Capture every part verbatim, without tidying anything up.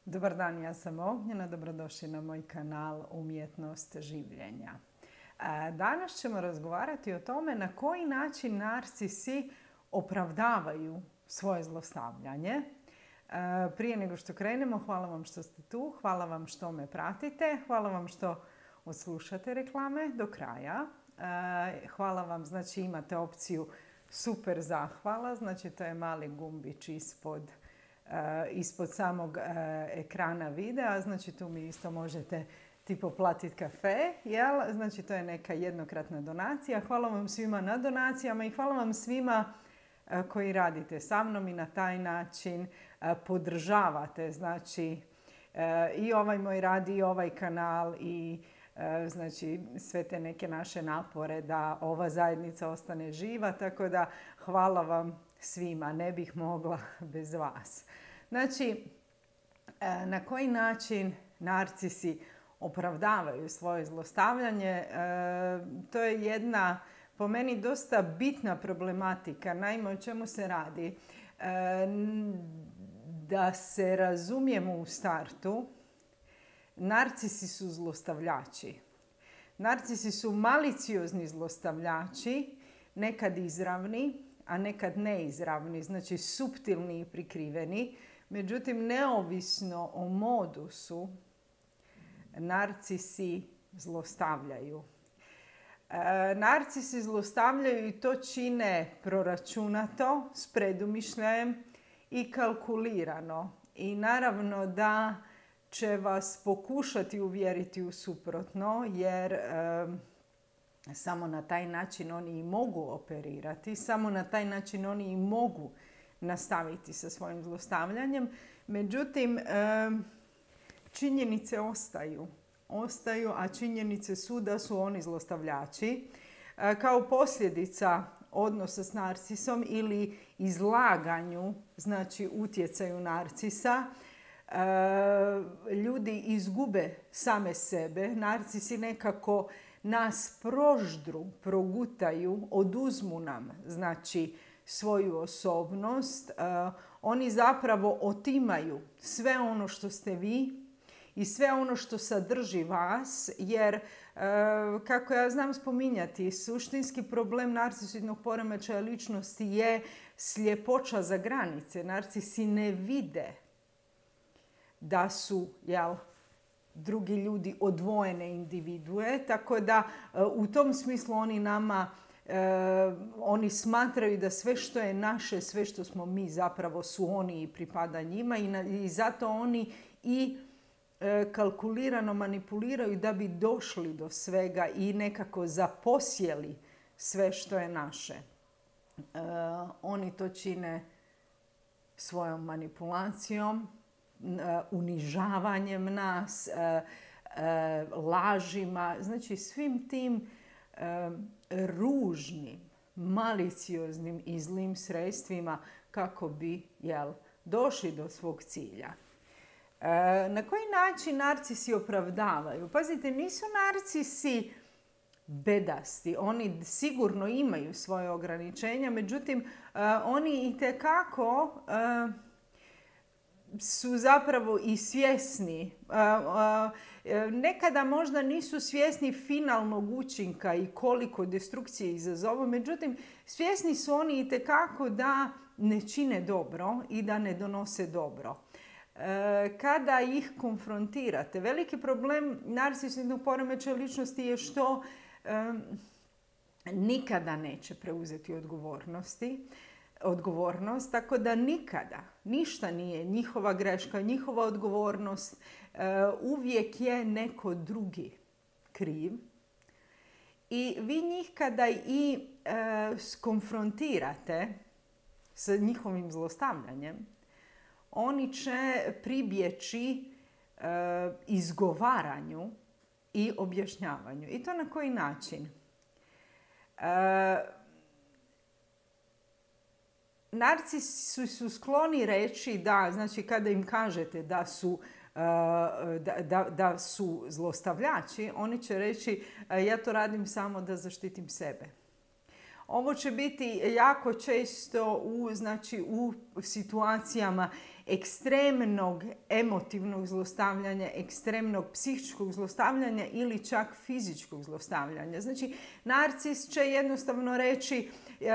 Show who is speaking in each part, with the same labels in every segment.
Speaker 1: Dobar dan, ja sam Ognjena, dobrodošli na moj kanal Umjetnost življenja. Danas ćemo razgovarati o tome na koji način narcisi opravdavaju svoje zlostavljanje. Prije nego što krenemo, hvala vam što ste tu, hvala vam što me pratite, hvala vam što odslušate reklame do kraja. Hvala vam, znači imate opciju super zahvala, znači to je mali gumbić ispod ispod samog ekrana videa, znači tu mi isto možete tipo platiti kafe, jel? Znači to je neka jednokratna donacija. Hvala vam svima na donacijama i hvala vam svima koji radite sa mnom i na taj način podržavate, znači i ovaj moj rad i ovaj kanal i znači sve te neke naše napore da ova zajednica ostane živa, tako da hvala vam svima, ne bih mogla bez vas. Znači, na koji način narcisi opravdavaju svoje zlostavljanje, to je jedna, po meni, dosta bitna problematika. Naime, o čemu se radi? Da se razumijemo u startu, narcisi su zlostavljači. Narcisi su maliciozni zlostavljači, nekad izravni, a nekad neizravni, znači suptilni i prikriveni. Međutim, neovisno o modusu, narcisi zlostavljaju. E, narcisi zlostavljaju i to čine proračunato, s predumišljajem i kalkulirano. I naravno da će vas pokušati uvjeriti u suprotno, jer e, samo na taj način oni i mogu operirati, samo na taj način oni i mogu nastaviti sa svojim zlostavljanjem. Međutim, činjenice ostaju. Ostaju, a činjenice su da su oni zlostavljači. Kao posljedica odnosa s narcisom ili izlaganju, znači utjecaju narcisa, ljudi izgube same sebe. Narcisi nekako nas proždru, progutaju, oduzmu nam, znači, svoju osobnost. Uh, oni zapravo otimaju sve ono što ste vi i sve ono što sadrži vas, jer, uh, kako ja znam spominjati, suštinski problem narcisiznog poremećaja ličnosti je sljepoća za granice. Narcisi ne vide da su, jel, drugi ljudi odvojene individue, tako da uh, u tom smislu oni nama Uh, oni smatraju da sve što je naše, sve što smo mi zapravo su oni i pripada njima i, na, i zato oni i uh, kalkulirano manipuliraju da bi došli do svega i nekako zaposjeli sve što je naše. Uh, oni to čine svojom manipulacijom, uh, unižavanjem nas, uh, uh, lažima, znači svim tim ružnim, malicioznim i zlim sredstvima kako bi, jel, došli do svog cilja. E, na koji način narcisi opravdavaju? Pazite, nisu narcisi bedasti. Oni sigurno imaju svoje ograničenja, međutim, e, oni itekako e, su zapravo i svjesni. Nekada možda nisu svjesni finalnog učinka i koliko destrukcije izazovu, međutim svjesni su oni itekako da ne čine dobro i da ne donose dobro. Kada ih konfrontirate, veliki problem narcisiznog poremećaja ličnosti je što nikada neće preuzeti odgovornosti. odgovornost, tako da nikada, ništa nije njihova greška, njihova odgovornost, uvijek je neko drugi kriv. I vi njih kada i skonfrontirate sa njihovim zlostavljanjem, oni će pribjeći izgovaranju i objašnjavanju. I to na koji način? Narcisi su skloni reći da, znači kada im kažete da su, da, da, da su zlostavljači, oni će reći ja to radim samo da zaštitim sebe. Ovo će biti jako često u, znači, u situacijama ekstremnog emotivnog zlostavljanja, ekstremnog psihičkog zlostavljanja ili čak fizičkog zlostavljanja. Znači, narcis će jednostavno reći e,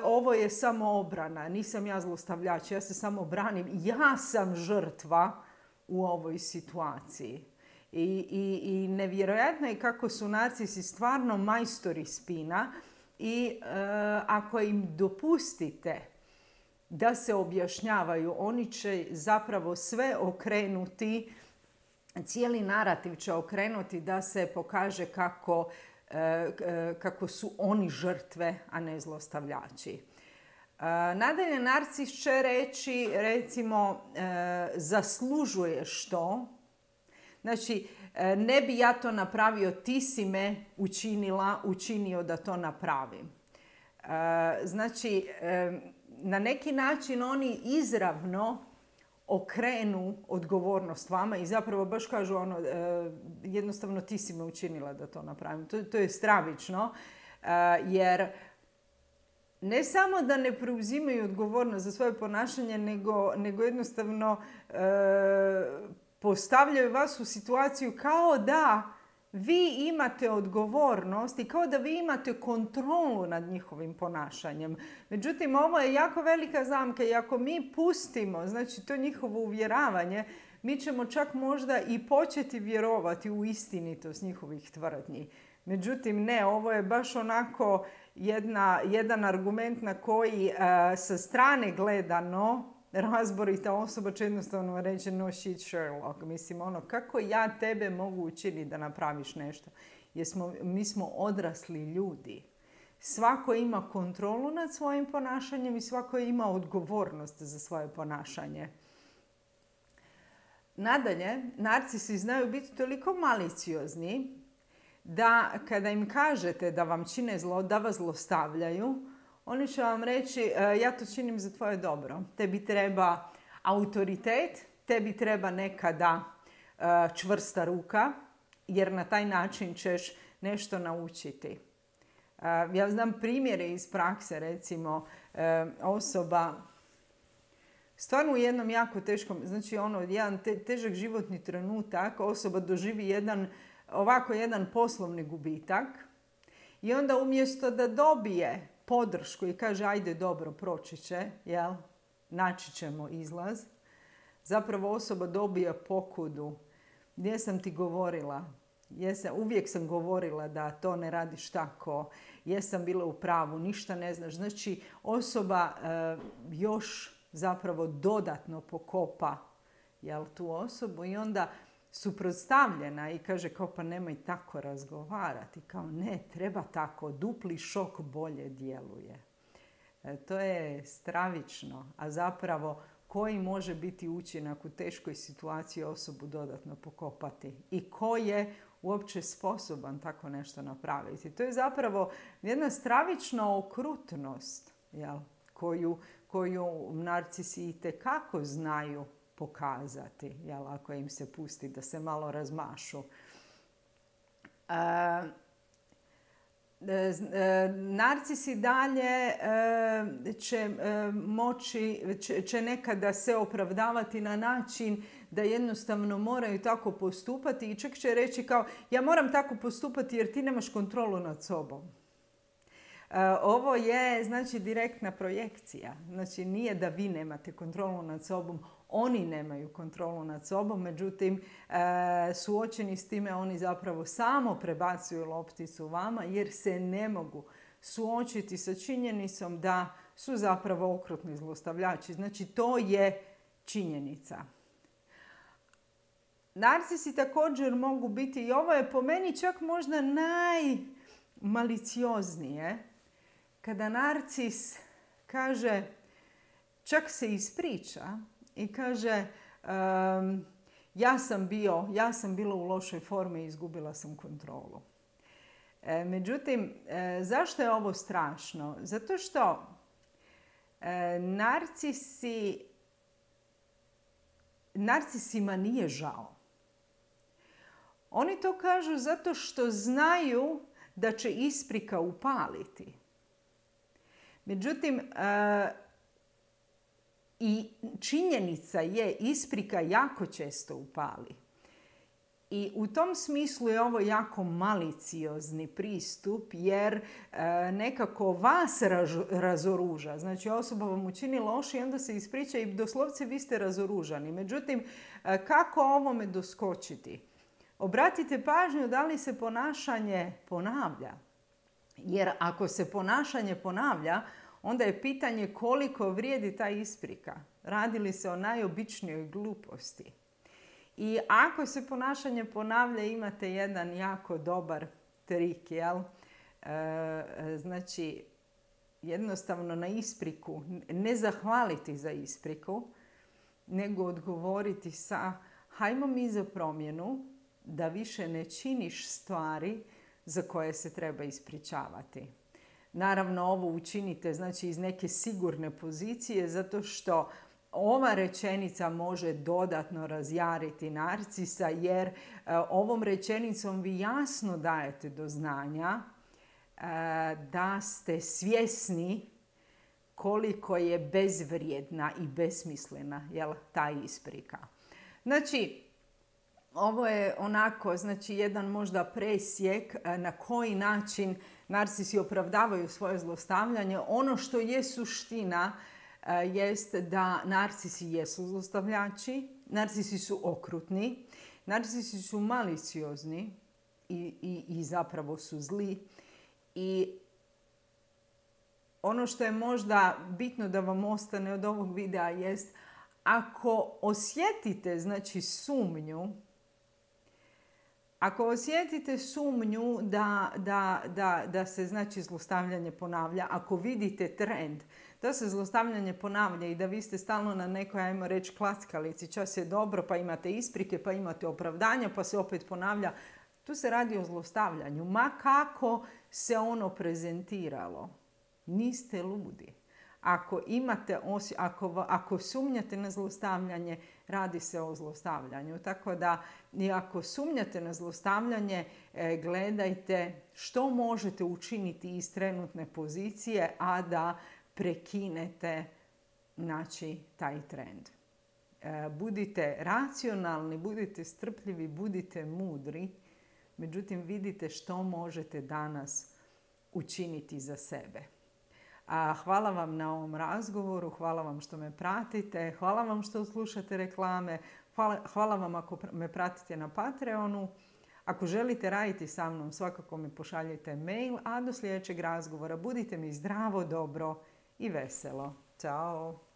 Speaker 1: ovo je samo obrana, nisam ja zlostavljač, ja se samo branim, ja sam žrtva u ovoj situaciji. I, i, i nevjerojatno je kako su narcisi stvarno majstori spina i e, ako im dopustite da se objašnjavaju, oni će zapravo sve okrenuti, cijeli narativ će okrenuti da se pokaže kako, e, kako su oni žrtve, a ne zlostavljači. E, nadalje, narcis će reći, recimo, e, zaslužuješ to. Znači, ne bi ja to napravio, ti si me učinila, učinio da to napravim. Znači, na neki način oni izravno okrenu odgovornost vama i zapravo baš kažu ono, jednostavno ti si me učinila da to napravim. To, to je stravično, jer ne samo da ne preuzimaju odgovornost za svoje ponašanje, nego, nego jednostavno postavljaju vas u situaciju kao da vi imate odgovornost i kao da vi imate kontrolu nad njihovim ponašanjem. Međutim, ovo je jako velika zamka i ako mi pustimo, znači to njihovo uvjeravanje, mi ćemo čak možda i početi vjerovati u istinitost njihovih tvrdnji. Međutim, ne, ovo je baš onako jedna, jedan argument na koji uh, sa strane gledano razborita osoba će jednostavno reći no shit Sherlock. Mislim, ono, kako ja tebe mogu učiniti da napraviš nešto? Jer smo, mi smo odrasli ljudi. Svako ima kontrolu nad svojim ponašanjem i svako ima odgovornost za svoje ponašanje. Nadalje, narcisi znaju biti toliko maliciozni da kada im kažete da vam čine zlo, da vas zlostavljaju, oni će vam reći ja to činim za tvoje dobro. Tebi treba autoritet, tebi treba nekada čvrsta ruka, jer na taj način ćeš nešto naučiti. Ja znam primjere iz prakse, recimo osoba stvarno u jednom jako teškom, znači ono, jedan te, težak životni trenutak, osoba doživi jedan, ovako jedan poslovni gubitak i onda umjesto da dobije podršku i kaže ajde dobro, proći će, jel? Naći ćemo izlaz, zapravo osoba dobija pokudu. Gdje sam ti govorila? Jesam, uvijek sam govorila da to ne radiš tako. Jesam bila u pravu, ništa ne znaš. Znači osoba e, još zapravo dodatno pokopa, jel, tu osobu i onda suprotstavljena i kaže kao pa nemoj tako razgovarati. Kao ne, treba tako, dupli šok bolje djeluje. E, to je stravično, a zapravo koji može biti učinak u teškoj situaciji osobu dodatno pokopati i ko je uopće sposoban tako nešto napraviti. To je zapravo jedna stravična okrutnost, jel, koju, koju narcisi itekako znaju pokazati, jel, ako im se pusti da se malo razmašu. E, e, narcisi dalje e, će e, moći, će, će nekada se opravdavati na način da jednostavno moraju tako postupati i čak će reći kao ja moram tako postupati jer ti nemaš kontrolu nad sobom. Ovo je, znači, direktna projekcija. Znači, nije da vi nemate kontrolu nad sobom, oni nemaju kontrolu nad sobom, međutim, suočeni s time oni zapravo samo prebacuju lopticu vama jer se ne mogu suočiti sa činjenicom da su zapravo okrutni zlostavljači. Znači, to je činjenica. Narcisi također mogu biti, i ovo je po meni čak možda najmalicioznije, kada narcis kaže, čak se ispriča i kaže um, ja sam bio, ja sam bila u lošoj formi i izgubila sam kontrolu. E, međutim, e, zašto je ovo strašno? Zato što e, narcisi, narcisima nije žao. Oni to kažu zato što znaju da će isprika upaliti. Međutim, I činjenica je, isprika jako često upali. I u tom smislu je ovo jako maliciozni pristup jer e, nekako vas raz, razoruža. Znači osoba vam učini loše i onda se ispriča i doslovce vi ste razoružani. Međutim, e, kako ovome doskočiti? Obratite pažnju da li se ponašanje ponavlja. Jer ako se ponašanje ponavlja, onda je pitanje koliko vrijedi ta isprika. Radi li se o najobičnijoj gluposti? I ako se ponašanje ponavlja, imate jedan jako dobar trik, jel? E, znači, jednostavno na ispriku, ne zahvaliti za ispriku, nego odgovoriti sa hajmo mi za promjenu da više ne činiš stvari za koje se treba ispričavati. Naravno, ovo učinite znači iz neke sigurne pozicije zato što ova rečenica može dodatno razjariti narcisa jer e, ovom rečenicom vi jasno dajete do znanja e, da ste svjesni koliko je bezvrijedna i besmislena jel, ta isprika. Znači, ovo je onako, znači jedan možda presjek na koji način narcisi opravdavaju svoje zlostavljanje. Ono što je suština jest da narcisi jesu zlostavljači, narcisi su okrutni, narcisi su maliciozni i, i, i zapravo su zli. I ono što je možda bitno da vam ostane od ovog videa jest ako osjetite znači sumnju, ako osjetite sumnju da, da, da, da se znači zlostavljanje ponavlja, ako vidite trend da se zlostavljanje ponavlja i da vi ste stalno na nekoj, ajmo reći, klackalici, čas je dobro, pa imate isprike, pa imate opravdanja, pa se opet ponavlja, tu se radi o zlostavljanju. Ma kako se ono prezentiralo, niste ludi. Ako, imate, ako, ako sumnjate na zlostavljanje, radi se o zlostavljanju. Tako da, i ako sumnjate na zlostavljanje, gledajte što možete učiniti iz trenutne pozicije, a da prekinete znači, taj trend. Budite racionalni, budite strpljivi, budite mudri. Međutim, vidite što možete danas učiniti za sebe. A hvala vam na ovom razgovoru, hvala vam što me pratite, hvala vam što slušate reklame, hvala, hvala vam ako me pratite na Patreonu. Ako želite raditi sa mnom, svakako mi pošaljite mail, a do sljedećeg razgovora budite mi zdravo, dobro i veselo. Ćao!